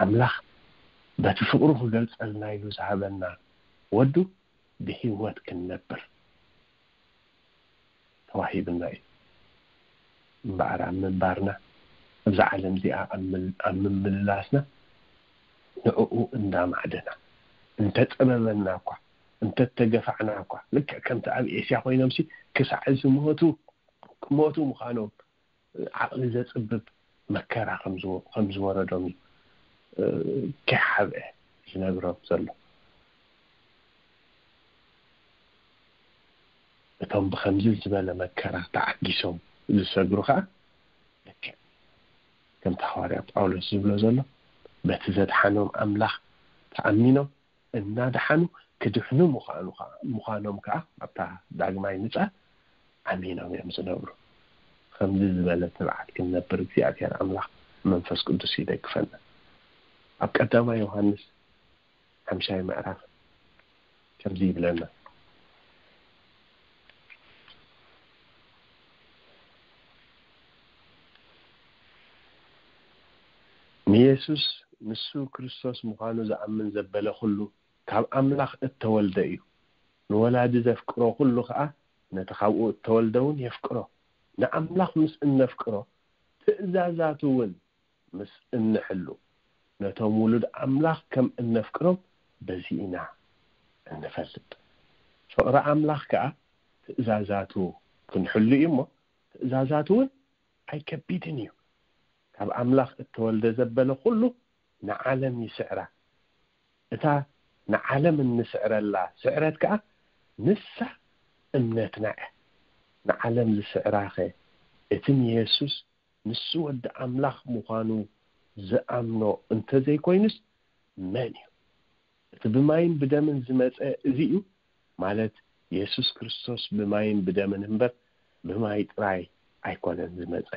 ኣምላኽ በቲ ፍቕሩ ክገልፀልና ኢሉ ዝሃበና ወዱ ብህይወት ክንነብር ተዋሂብና እዩ። እምበኣር ኣብ ምንባርና፣ ኣብዛ ዓለም እዚኣ ኣብ ምል- ኣብ ምምልላስና ንዕኡ እንዳማዕደና እንተጸበበና እኳ፣ እንተተገፋዕና እኳ፣ ልክዕ ከምቲ ኣብ ኤስያ ኮይኖምሲ ክሳዕ ዝሞቱ ክሞቱ ምዃኖም ዓቕሊ ዘጽብብ መከራ ከም ዝወ- ከም ዝወረዶም እዩ እ፣ ከይሓብአ ዝነግሮም ዘሎ። እቶም ብኸምዚ ዝበለ መከራ ተዓጊሶም ዝሰግሩ ኸኣ ልክዕ ከምቲ ሃዋርያ ጳውሎስ ዝብሎ ዘሎ በቲ ዘድሓኖም ኣምላኽ ተኣሚኖም እናድሓኑ ክድሕኑ ምዃኑ ኸኣ- ምዃኖም ከኣ ኣብታ ዳግማይ ምጻእ ኣሚኖም እዮም ዝነብሩ። ከምዚ ዝበለ ትብዓት ክንነብር እግዚኣብሔር ኣምላኽ መንፈስ ቅዱስ ይደግፈና። ኣብ ቀዳማይ ዮሃንስ ሓምሻይ ምዕራፍ ከምዚ ይብለና። ንየሱስ ንሱ ክርስቶስ ምዃኑ ዝኣምን ዘበለ ኩሉ ካብ ኣምላኽ እተወልደ እዩ። ንወላዲ ዘፍቅሮ ኩሉ ኸኣ ነቲ ካብኡ እተወልደ እውን የፍቅሮ። ንኣምላኽ ምስ እነፍቅሮ ትእዛዛቱ እውን ምስ እንሕሉ ነቶም ውሉድ ኣምላኽ ከም እነፍቅሮም በዚ ኢና እንፈልጥ። ፍቕሪ ኣምላኽ ከኣ ትእዛዛቱ ክንሕሉ እዩ እሞ ትእዛዛቱ እውን ኣይከቢድን እዩ። ካብ ኣምላኽ እተወልደ ዘበለ ኩሉ ንዓለም ይስዕራ። እታ ንዓለም እንስዕረላ ስዕረት ከኣ ንሳ እምነትና እያ። ንዓለም ዝስዕራኸ እቲ ንየሱስ ንሱ ወዲ ኣምላኽ ምዃኑ ዝኣምኖ እንተዘይኮይኑስ መን እዩ? እቲ ብማይን ብደምን ዝመጸ እዚ እዩ፣ ማለት የሱስ ክርስቶስ ብማይን ብደምን እምበር ብማይ ጥራይ ኣይኮነን ዝመጸ።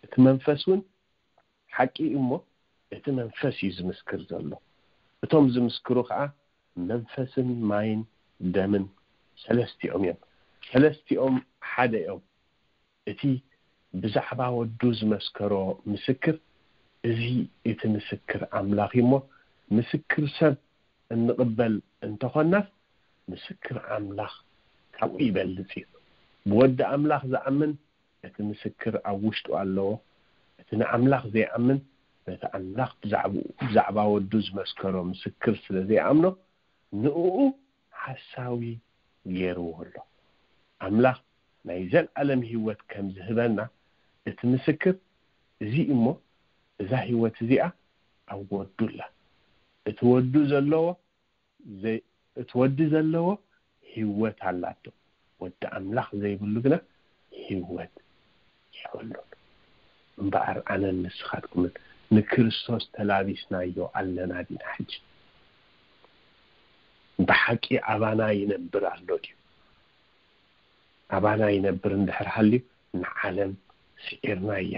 እቲ መንፈስ እውን ሓቂ እዩ እሞ እቲ መንፈስ እዩ ዝምስክር ዘሎ። እቶም ዝምስክሩ ኸኣ መንፈስን ማይን ደምን ሰለስቲኦም እዮም። ሰለስቲኦም ሓደ እዮም። እቲ ብዛዕባ ወዱ ዝመስከሮ ምስክር፣ እዚ እቲ ምስክር ኣምላኽ እዩ እሞ፣ ምስክር ሰብ እንቕበል እንተኾናስ፣ ምስክር ኣምላኽ ካብኡ ይበልጽ እዩ። ብወዲ ኣምላኽ ዝኣምን እቲ ምስክር ኣብ ውሽጡ ኣለዎ። እቲ ንኣምላኽ ዘይኣምን ነቲ ኣምላኽ ብዛዕባኡ- ብዛዕባ ወዱ ዝመስከሮ ምስክር ስለ ዘይኣምኖ፣ ንእኡ ሓሳዊ ገይርዎ ኣሎ። ኣምላኽ ናይ ዘለኣለም ህይወት ከም ዝህበና እቲ ምስክር እዚ እሞ፣ እዛ ህይወት እዚኣ ኣብ ወዱ ኣላ። እቲ ወዱ ዘለዎ ዘይ- እቲ ወዲ ዘለዎ ህይወት ኣላቶ። ወዲ ኣምላኽ ዘይብሉ ግና ህይወት የብሉን። እምበኣር ኣነን ንስኻትኩምን ንክርስቶስ ተላቢስናዮ ኣለና ዲና? ሕጂ ብሓቂ ኣባና ይነብር ኣሎ ድዩ? ኣባና ይነብር እንድሕር ሃልዩ ንዓለም ስዒርናያ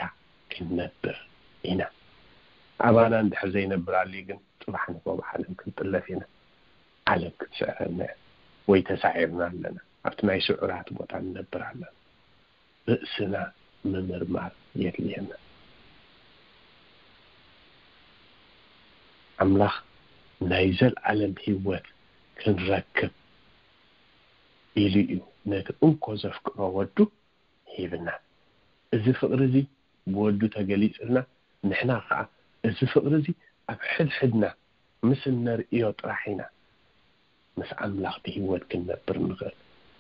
ክንነብር ኢና። ኣባና እንድሕር ዘይነብር ኣልዩ ግን ጽባሕ ንግሆ ብዓለም ክንጥለፍ ኢና። ዓለም ክትስዕረና እያ ወይ ተሳዒርና ኣለና። ኣብቲ ናይ ስዑራት ቦታ ንነብር ኣለና። ርእስና ምምርማር የድልየና። ኣምላኽ ናይ ዘልዓለም ህይወት ክንረክብ ኢሉ እዩ ነቲ እንኮ ዘፍቅሮ ወዱ ሂብና። እዚ ፍቕሪ እዚ ብወዱ ተገሊጽልና፣ ንሕና ኸዓ እዚ ፍቕሪ እዚ ኣብ ሕድሕድና ምስ እነርእዮ ጥራሕ ኢና ምስ ኣምላኽ ብህይወት ክንነብር ንኽእል።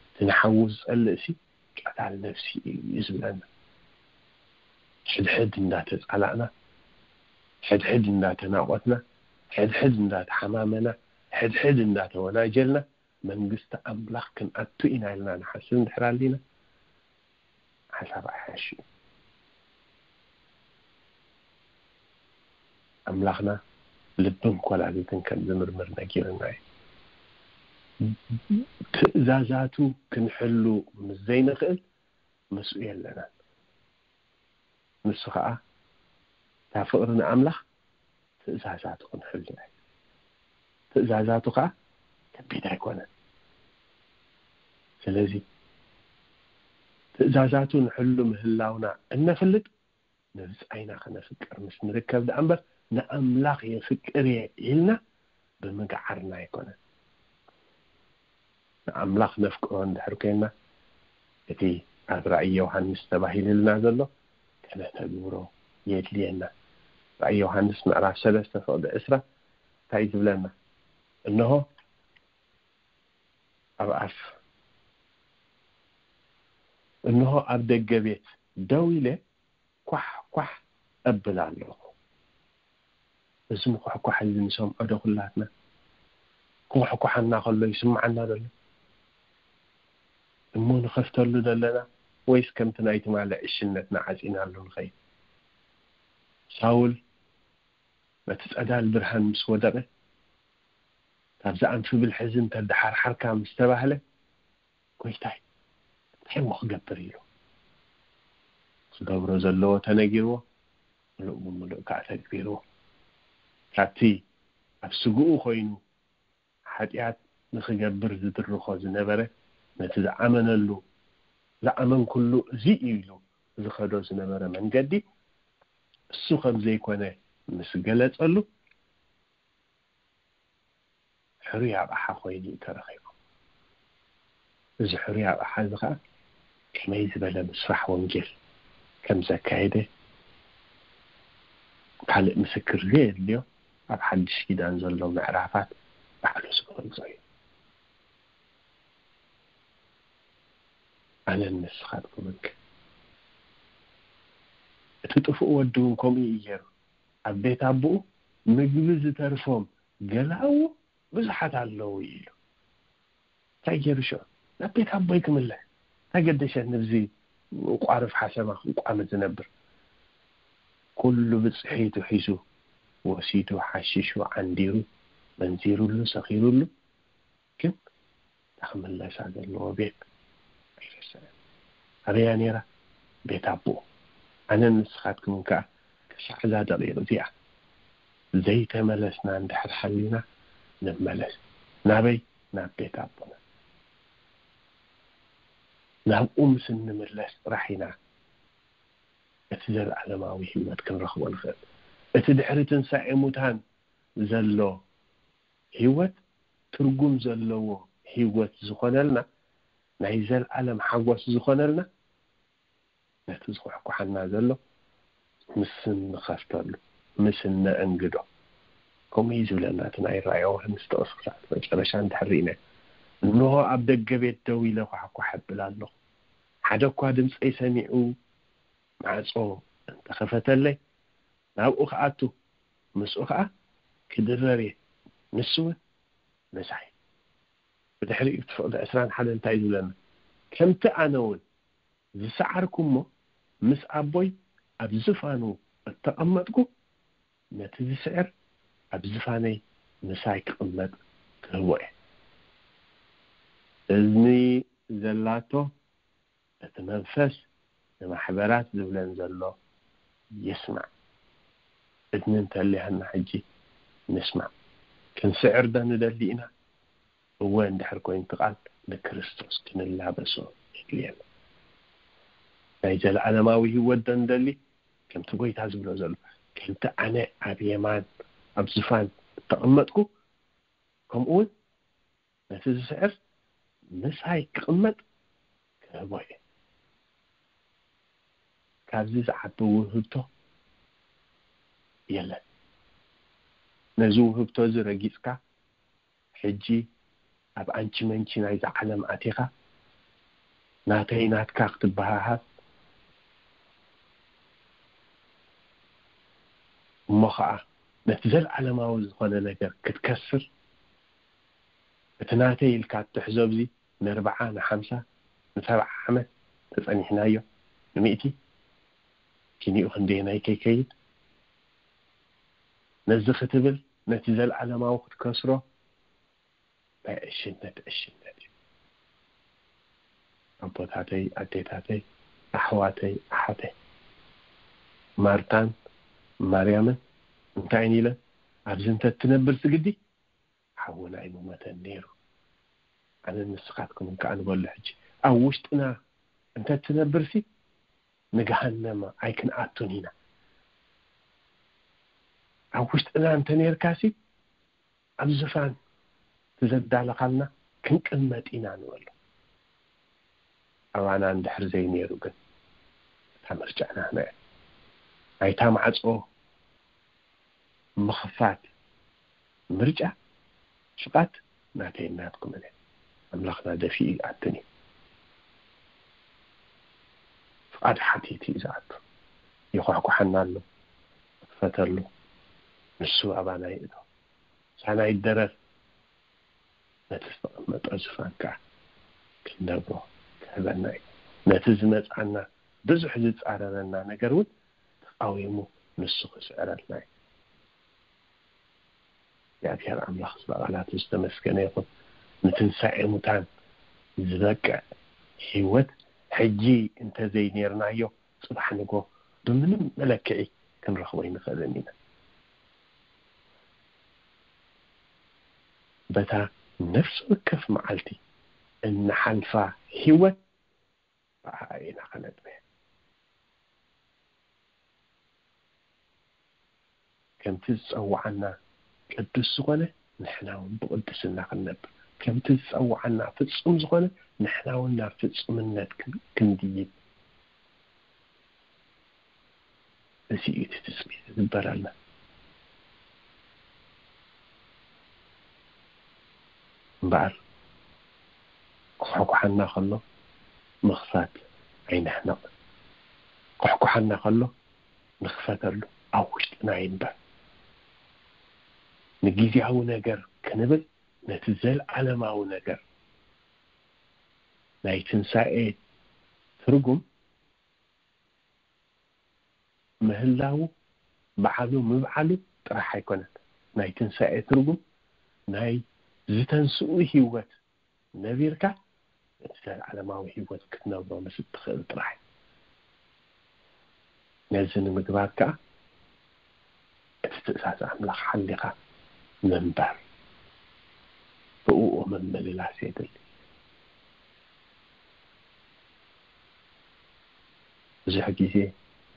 እቲ ንሓዉ ዝጸልእሲ ቀታል ነፍሲ እዩ ዝብለና። ሕድሕድ እንዳተጻላእና፣ ሕድሕድ እንዳተናቖትና፣ ሕድሕድ እንዳተሓማመና፣ ሕድሕድ እንዳተወናጀልና መንግስቲ ኣምላኽ ክንኣቱ ኢና ኢልና ንሓስብ እንድሕር ኣሊና፣ ሓሳብ ኣይሓሽ እዩ። ኣምላኽና ልብን ኮላሊትን ከም ዝምርምር ነጊርና እዩ። ትእዛዛቱ ክንሕሉ ምስ ዘይንኽእል ምስኡ የለናን። ንሱ ኸዓ እታ ፍቕሪ ንኣምላኽ ትእዛዛቱ ክንሕሉ እዩ። ትእዛዛቱ ኸዓ ከቢድ ኣይኮነን። ስለዚ ትእዛዛቱ ንሕሉ ምህላውና እነፍልጥ፣ ንብጻይና ከነፍቅር ምስ ንርከብ ደኣ እምበር፣ ንኣምላኽ የፍቅር እየ ኢልና ብምግዓርና ኣይኮነን። ንኣምላኽ ነፍቅሮ እንድሕር ኮይንና፣ እቲ ኣብ ራእይ ዮሃንስ ተባሂሉልና ዘሎ ከነተግብሮ የድልየና። ራእይ ዮሃንስ ምዕራፍ ሰለስተ ፍቕዲ ዕስራ እንታይ ዝብለና? እንሆ ኣብ ኣፍ፣ እንሆ ኣብ ደገ ቤት ደው ኢለ ኳሕ ኳሕ እብል ኣለኹ። እዚ ምኹሕኳሕ እዚ ንሰምዖ ዶ ኩላትና? ክኹሕኳሓና ከሎ ይስምዓና ዶ ኣሎ? እሞ ንኸፍተሉ ዶ ኣለና? ወይስ ከምቲ ናይ ትማሊ ዕሽነትና ዓጺናሉ ንኸይድ? ሳውል በቲ ጸዳል ብርሃን ምስ ወደቐ፣ ካብዚ ኣንፊ ብልሒ እዚ እንተደሓርሓርካ ምስ ተባህለ፣ ጎይታይ፣ እንታይ እሞ ክገብር ኢሉ ክገብሮ ዘለዎ ተነጊርዎ፣ ምሉእ ብምሉእ ከዓ ተግቢርዎ። ካብቲ ኣብ ስግኡ ኮይኑ ሓጢኣት ንኽገብር ዝድርኾ ዝነበረ፣ ነቲ ዝኣመነሉ፣ ዝኣመንኩሉ እዚ እዩ ኢሉ ዝኸዶ ዝነበረ መንገዲ፣ እሱ ከም ዘይኮነ ምስ ገለጸሉ፣ ሕሩይ ኣቕሓ ኮይኑ እዩ ተረኺቡ። እዚ ሕሩይ ኣቕሓ እዚ ኸዓ ከመይ ዝበለ ምስፋሕ ወንጌል ከም ዘካየደ ካልእ ምስክር ዘየድልዮ ኣብ ሓድሽ ኪዳን ዘሎ ምዕራፋት ባዕሉ ዝገልጾ እዩ። ኣነን ንስኻትኩምን ከ? እቲ ጥፉእ ወዲ እውን ከምኡ እዩ ገይሩ። ኣብ ቤት ኣቦኡ ምግቢ ዝተርፎም ገላዉ ብዙሓት ኣለዉ ኢሉ። እንታይ ገይሩ ሽዑ? ናብ ቤት ኣቦይ ክምለስ። እንታይ ገደሸኒ ብዚ ቋርፍ ሓሰማ ክቋመ ዝነብር? ኩሉ ብጽሒቱ ሒዙ ወሲዱ ሓሺሹ ዓንዲሩ መንዚሩሉ ሰኺሩሉ። ግን እታ ክምለሳ ዘለዎ ቤት ኣይረስዐን። ኣበያ ነይራ? ቤት ኣቦኡ። ኣነን ንስኻትኩምን ከኣ ክሳዕ እዛ ደቂቕ እዚኣ ዘይተመለስና እንድሕር ሓሊና ንመለስ። ናበይ? ናብ ቤት ኣቦና። ናብኡ ምስ እንምለስ ጥራሕ ኢና እቲ ዘለኣለማዊ ህይወት ክንረኽቦ ንኽእል። እቲ ድሕሪ ትንሳኤ ሙታን ዘሎ ህይወት ትርጉም ዘለዎ ህይወት ዝኾነልና፣ ናይ ዘለኣለም ሓጎስ ዝኾነልና፣ ነቲ ዝኹሕኩሓና ዘሎ ምስ እንኸፍተሉ፣ ምስ እነእንግዶ። ከምኡ እዩ ዝብለና እቲ ናይ ራእይ ዮሃንስ ጥቕሲ ክሳዕ መጨረሻ እንድሕር ርኢናዮ። እንሆ ኣብ ደገ ቤት ደው ኢለ ኳሕኳሕ እብል ኣለኹ። ሓደ እኳ ድምፀይ ሰሚዑ ማዕጾ እንተኸፈተለይ፣ ናብኡ ክኣቱ፣ ምስኡ ኸዓ ክድረር እየ፣ ንሱ እውን ምሳይ። ብድሕሪኡ እቲ ፍቕዲ ዕስራን ሓደን እንታይ እዩ ዝብለና? ከምቲ ኣነ እውን ዝሰዓርኩ እሞ ምስ ኣቦይ ኣብ ዝፋኑ እተቐመጥኩ፣ ነቲ ዝስዕር ኣብ ዝፋነይ ምሳይ ክቕመጥ ክህቦ እየ። እዝኒ ዘላቶ እቲ መንፈስ ንማሕበራት ዝብለን ዘሎ ይስማዕ። እዝኒ እንተልያና ሕጂ ንስማዕ። ክንስዕር ዶ ንደሊ ኢና? እወ እንድሕር ኮይኑ እቲ ቃል ንክርስቶስ ክንላበሶ የድልየና። ናይ ዘለዓለማዊ ህይወት ዶ ንደሊ? ከምቲ ጎይታ ዝብሎ ዘሎ፣ ከምቲ ኣነ ኣብ የማን ኣብ ዝፋን እተቐመጥኩ፣ ከምኡ እውን ነቲ ዝስዕር ምሳይ ክቕመጥ ክህቦ እየ። ካብዚ ዝዓቢ ውህብቶ የለን። ነዚ ውህብቶ እዚ ረጊጽካ፣ ሕጂ ኣብ ኣንቺ መንቺ ናይዛ ዓለም ኣቲኻ፣ ናተይ ናትካ ክትበሃሃል፣ እሞ ኸዓ ነቲ ዘለዓለማዊ ዝኾነ ነገር ክትከስር፣ እቲ ናተይ ኢልካ እትሕዞ፣ ኣብዚ ንኣርብዓ፣ ንሓምሳ፣ ንሰብዓ ዓመት ተጸኒሕናዮ፣ ንሚእቲ፣ ኪኒኡ ክንደየናይ ከይከይድ፣ ነዚ ክትብል፣ ነቲ ዘለዓለማዊ ክትከስሮ፣ ናይ ዕሽነት ዕሽነት እዩ። ኣቦታተይ፣ ኣዴታተይ፣ ኣሕዋተይ፣ ኣሓተይ፣ ማርታን ማርያምን እንታይ ኢለን? ኣብዚ እንተ ትነብር ስግዲ፣ ሓውና ኣይምሞተን ነይሩ። ኣነን ንስኻትኩምን ከኣ ንበሎ። ሕጂ ኣብ ውሽጥና እንተ ትነብርሲ፣ ንገሃነም ኣይክንኣቱን ኢና። ኣብ ውሽጥና እንተ ነርካሲ፣ ኣብ ዝፋን እቲ ዘዳለኻልና ክንቅመጥ ኢና ንበሎ። ኣባና እንድሕር ዘይነይሩ ግን፣ እታ ምርጫ ናህና እያ። ናይታ ማዕጾ ምኽፋት ምርጫ፣ ፍቓድ ናተይን ናትኩምን እያ። ኣምላኽና ደፊኡ ይኣትን እዩ። ፍቓድ ሓቲቱ እዩ ዝኣቱ። ይኳሕኳሓና ኣሎ፣ ንኽፈተሉ። ንሱ ኣባና ይእቶ። ሳና ይደረር። ነቲ ዝተቐመጠ ዝፋን ከኣ ክንነብሮ ክህበና እዩ። ነቲ ዝመጽኣና ብዙሕ ዝጻረረና ነገር እውን ተቓዊሙ ንሱ ክስዕረልና እዩ። እግዚኣብሔር ኣምላኽ ስለ ቃላቱ ዝተመስገነ ይኹን። ንትንሳኤ ሙታን ዝበቅዕ ህይወት ሕጂ እንተዘይኔርናዮ፣ ጽባሕ ንጎ ብምንም መለክዒ ክንረኽቦ ኣይንኽእልን ኢና። በታ ነፍሲ ወከፍ መዓልቲ እንሓልፋ ህይወት ብኣኣ ኢና ከነጥምያ። ከምቲ ዝጸውዓና ቅዱስ ዝኾነ፣ ንሕና እውን ብቕድስና ክንነብር፣ ከምቲ ዝጸውዓና ፍጹም ዝኾነ፣ ንሕና እውን ናብ ፍጹምነት ክን-፣ ክንድይብ። እዚ እዩ እቲ ትጽቢት ዝግበረልና። እምበኣር፣ ክኳሕኳሓና ከሎ ምኽፋት ኣይንሕመቕ። ክኳሕኳሓና ከሎ ንኽፈተሉ፣ ኣብ ውሽጥና ይንበር። ንግዜያዊ ነገር ክንብል፣ ነቲ ዘለዓለማዊ ነገር፣ ናይ ትንሳኤ ትርጉም፣ ምህላዉ፣ በዓሉ ምብዓሉ ጥራሕ ኣይኮነን። ናይ ትንሳኤ ትርጉም፣ ናይ ዝተንስኡ ህይወት ነቢርካ፣ እቲ ዘለዓለማዊ ህይወት ክትነብሮ ምስ እትኽእል ጥራሕ እዩ። ነዚ ንምግባር ከኣ፣ እቲ ትእዛዝ ኣምላኽ ሓሊኻ ምንባር፣ ብእኡ ምምልላስ የድሊ። ብዙሕ ግዜ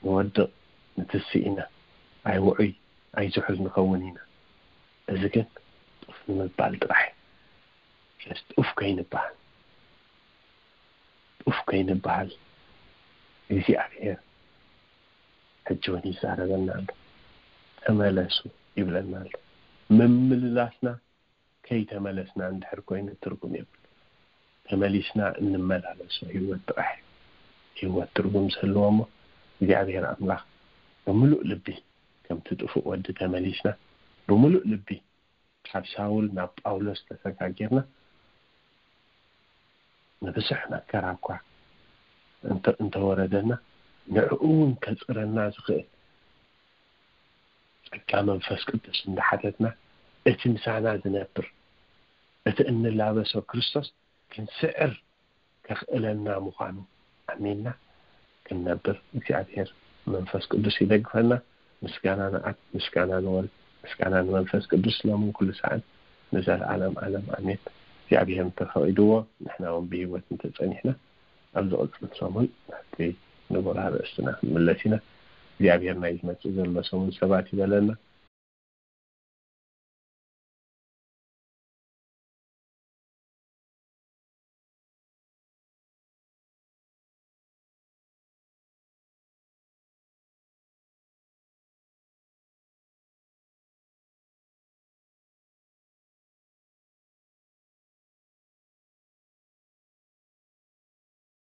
ንወድቕ፣ ንትስእ ኢና፣ ኣይውዑይ ኣይዝሑል ንኸውን ኢና። እዚ ግን ጡፍ ንምባል ጥራሕ እዩ። ስለዚ ጡፍ ከይንበሃል፣ ጡፍ ከይንበሃል እግዚኣብሔር ሕጂ እውን ይዛረበና ኣሎ። ተመለሱ ይብለና ኣሎ። ምምልላስና ከይተመለስና እንድሕር ኮይኑ ትርጉም የብሉ። ተመሊስና እንመላለሶ ህይወት ጥራሕ እዩ። ህይወት ትርጉም ዝህልዎ እሞ እግዚኣብሔር ኣምላኽ ብምሉእ ልቢ ከምቲ ጥፉእ ወዲ ተመሊስና ብምሉእ ልቢ ካብ ሳውል ናብ ጳውሎስ ተሰጋጊርና ንብዙሕ መከራ እኳ እንተ-፣ እንተወረደና ንዕኡ እውን ከጽረና ዝኽእል ጸጋ መንፈስ ቅዱስ እንዳሓተትና እቲ ምሳና ዝነብር እቲ እንላበሶ ክርስቶስ ክንስዕር ከኽእለና ምዃኑ ኣሚንና ክንነብር እግዚኣብሔር መንፈስ ቅዱስ ይደግፈና። ምስጋና ንኣብ፣ ምስጋና ንወልድ፣ ምስጋና ንመንፈስ ቅዱስ ሎምን ኩሉ ሰዓት ንዘለዓለም ዓለም ኣሜን። እግዚኣብሔር እንተፈቒድዎ ንሕና እውን ብህይወት እንተጸኒሕና ኣብ ዝቕጽል ሰሙን ናብቲ ንቡር ኣርእስትና ክንምለስ ኢና። እግዚኣብሔር ናይ ዝመጽእ ዘሎ ሰሙን ሰባት ይበለና።